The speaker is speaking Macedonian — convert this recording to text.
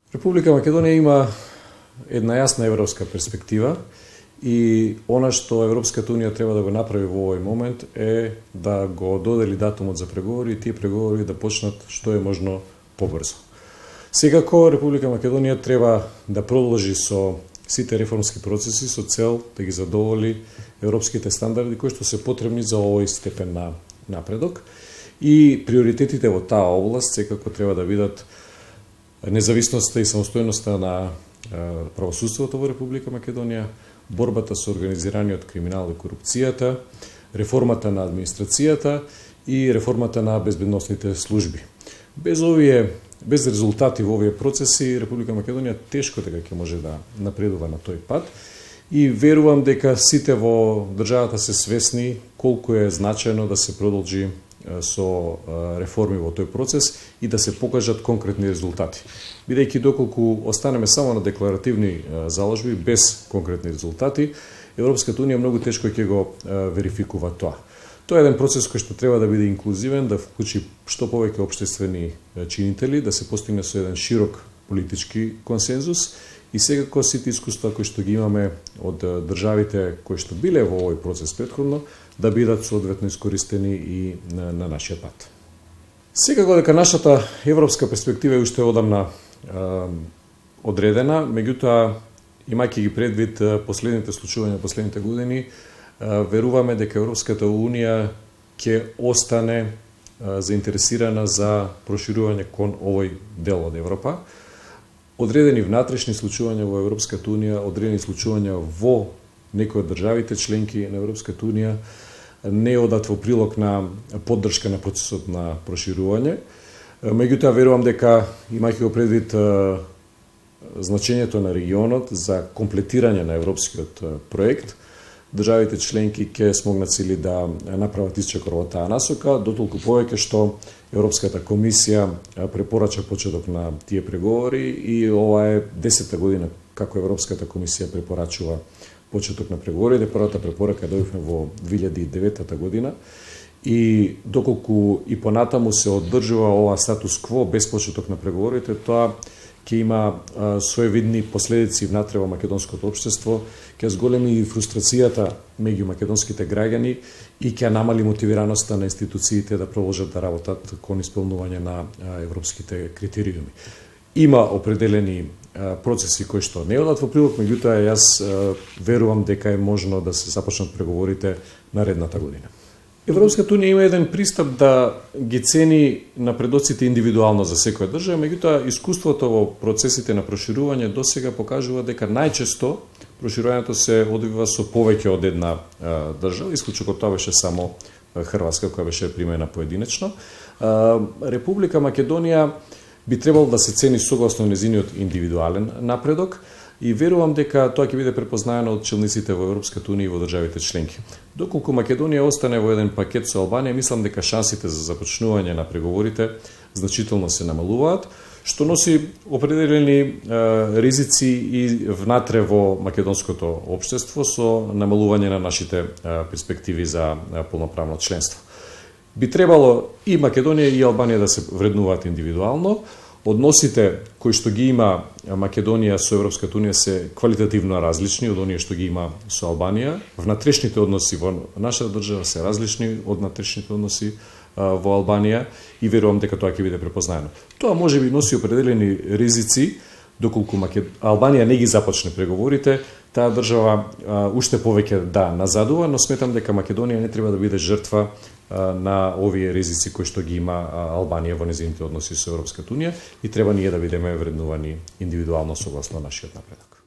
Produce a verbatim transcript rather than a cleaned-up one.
Република Македонија има една јасна европска перспектива и она што Европската унија треба да го направи во овој момент е да го додели датумот за преговори и тие преговори да почнат што е можно побрзо. Секако Република Македонија треба да продолжи со сите реформски процеси со цел да ги задоволи европските стандарди кои што се потребни за овој степен на напредок и приоритетите во таа област секако треба да бидат независноста и самостојноста на правосудството во Република Македонија, борбата со организираниот криминал и корупцијата, реформата на администрацијата и реформата на безбедносните служби. Без овие без резултати во овие процеси Република Македонија тешко дека ќе може да напредува на тој пат и верувам дека сите во државата се свесни колку е значајно да се продолжи со реформи во тој процес и да се покажат конкретни резултати. Бидејќи доколку останеме само на декларативни заложби без конкретни резултати, Европската унија многу тешко ќе го верификува тоа. Тоа е еден процес кој што треба да биде инклузивен, да вклучи што повеќе општествени чинители, да се постигне со еден широк политички консензус и секако сите искуства кои што ги имаме од државите кои што биле во овој процес претходно, да бидат соодветно искористени и на, на нашиот пат. Секако дека нашата европска перспектива е уште одамна е, одредена, меѓутоа, имајќи ги предвид последните случувања последните години, веруваме дека Европската унија ќе остане заинтересирана за проширување кон овој дел од Европа. Одредени внатрешни случувања во Европската унија, одредени случувања во некои од државите членки на Европската унија не одат во прилог на поддршка на процесот на проширување. Меѓутоа верувам дека имајќи го предвид значењето на регионот за комплетирање на европскиот проект, државите членки ќе смогнат сили да направат исчекор во таа насока, дотолку повеќе што Европската комисија препорача почеток на тие преговори и ова е десета година како Европската комисија препорачува почеток на преговорите. Првата препорака добивме во две илјади и девета година и доколку и понатаму се оддржува ова статус кво без почеток на преговорите, тоа ќе има своевидни последици внатре во македонското општество, ќе зголеми фрустрацијата меѓу македонските граѓани и ќе намали мотивираноста на институциите да продолжат да работат кон исполнување на европските критериуми. Има определени процеси кои што не одат во прилог, меѓутоа јас верувам дека е можно да се започнат преговорите наредната година. Европската унија има еден пристап да ги цени напредоците индивидуално за секоја држава, меѓутоа искуството во процесите на проширување досега покажува дека најчесто проширувањето се одвива со повеќе од една а, држава, исклучок од тоа беше само Хрватска која беше примена поединечно. А, Република Македонија би требало да се цени согласно незиниот индивидуален напредок и верувам дека тоа ќе биде препознаено од челниците во Европската унија и во државите членки. Доколку Македонија остане во еден пакет со Албанија, мислам дека шансите за започнување на преговорите значително се намалуваат, што носи определени е, ризици и внатре во македонското општество со намалување на нашите е, перспективи за е, полноправно членство. Би требало и Македонија и Албанија да се вреднуваат индивидуално. Односите кои што ги има Македонија со Европската унија се квалитативно различни од оние што ги има со Албанија. Внатрешните односи во нашата држава се различни од внатрешните односи во Албанија и верувам дека тоа ќе биде препознаено. Тоа може би носи определени ризици, доколку Албанија не ги започне преговорите, таа држава а, уште повеќе да назадува, но сметам дека Македонија не треба да биде жртва а, на овие ризици кои што ги има а, Албанија во незините односи со Европската унија и треба ние да бидеме вреднувани индивидуално согласно нашиот напредок.